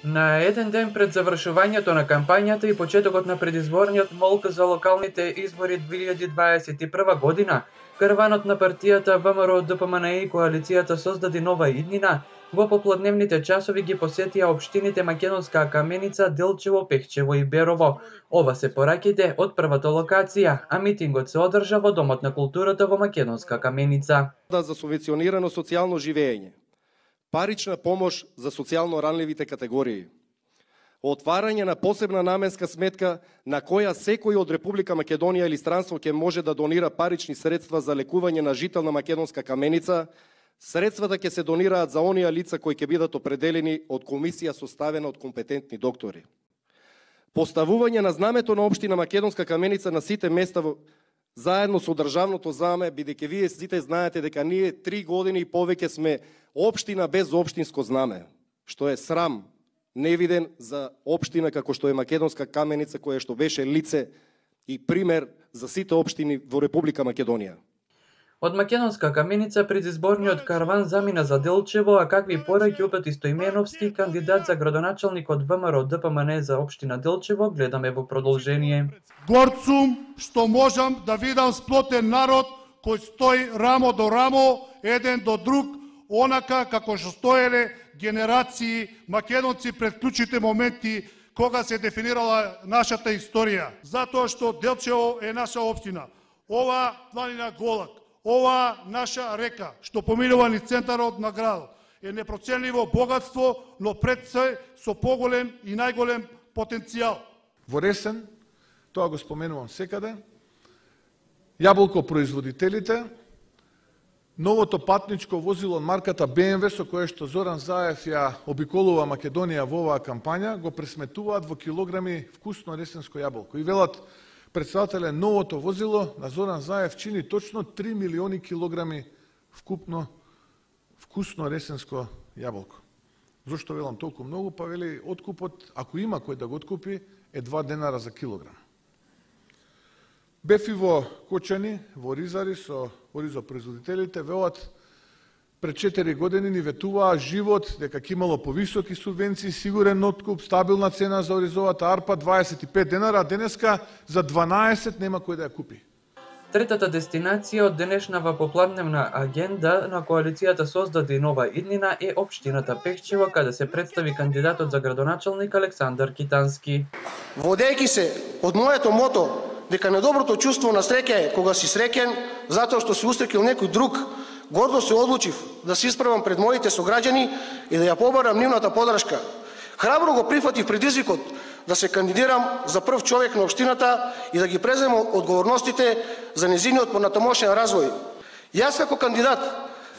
На еден ден пред завршувањето на кампањата и почетокот на предизборниот молк за локалните избори 2021 година, караванот на партијата ВМРО-ДПМНЕ и коалицијата Создади нова иднина во попладневните часови ги посетија општините Македонска Каменица, Делчево, Пехчево и Берово. Ова се пораките од првата локација, а митингот се одржа во Домот на културата во Македонска Каменица. За субвенционирано социјално живење, парична помош за социјално ранливите категории, отварање на посебна наменска сметка на која секој од Република Македонија или странство ќе може да донира парични средства за лекување на жител на Македонска Каменица. Средствата ќе се донираат за оние лица кои ќе бидат определени од комисија составена од компетентни доктори. Поставување на знамето на општина Македонска Каменица на сите места заедно со државното знаме, бидејќи вие сите знаете дека ние 3 години и повеќе сме општина без општинско знаме, што е срам невиден за општина како што е Македонска Каменица, која што беше лице и пример за сите општини во Република Македонија. Од Македонска Каменица предизборниот караван замина за Делчево, а какви пораки упати Стоименовски, кандидат за градоначалник од ВМРО-ДПМНЕ за општина Делчево, гледаме во продолжение. Горд сум што можам да видам сплотен народ кој стои рамо до рамо, еден до друг, онака како што стоеле генерации македонци пред клучните моменти кога се дефинирала нашата историја. Затоа што Делчево е наша општина. Ова планина Голак, ова наша река што поминува низ центарот на градот е непроценливо богатство, но пред се со поголем и најголем потенцијал. Во Ресен, тоа го споменувам секаде, јаболкопроизводителите, новото патничко возило марката BMW со кое што Зоран Заев ја обиколува Македонија во оваа кампања, го пресметуваат во килограми вкусно ресенско јаболко. И велат председателе, новото возило на Зоран Заев чини точно 3 милиони килограми вкупно вкусно ресенско јаболко. Зошто велам толку многу? Па вели откупот, ако има кој да го откупи, е 2 денара за килограм. Бев и во Кочани, во Ризари со оризопроизводителите, велат пред 4 години ни ветуваа живот, дека ќе имало повисоки субвенции, сигурен откуп, стабилна цена за оризовата арпа, 25 денара, а денеска за 12 нема кој да ја купи. Третата дестинација од денешнава попладневна агенда на коалицијата Создади нова иднина е општината Пехчево, каде се представи кандидатот за градоначалник Александар Китански. Водејќи се од моето мото дека недоброто чувство на среќа е кога си среќен затоа што се устрекил некој друг, гордо се одлучив да се исправам пред моите сограѓани и да ја побарам нивната подршка. Храбро го прифатив предизвикот да се кандидирам за прв човек на општината и да ги преземам одговорностите за незиниот понатамошен развој. Јас како кандидат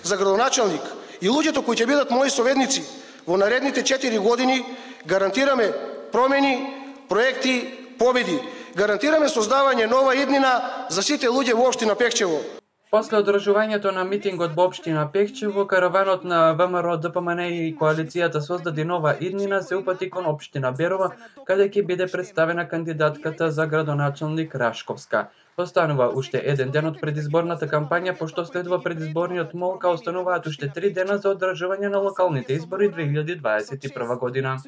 за градоначалник и луѓето кои ќе бидат мои советници во наредните 4 години гарантираме промени, проекти, победи. Гарантираме создавање нова иднина за сите луѓе во општина Пехчево. После одржувањето на митингот во општина Пехчево, караванот на ВМРО-ДПМНЕ и коалицијата Создади нова иднина се упати кон општина Берово, каде ќе биде представена кандидатката за градоначалник Рашковска. Останува уште еден ден од предизборната кампања, пошто следува предизборниот молк, а остануваат уште 3 дена за одржување на локалните избори 2021 година.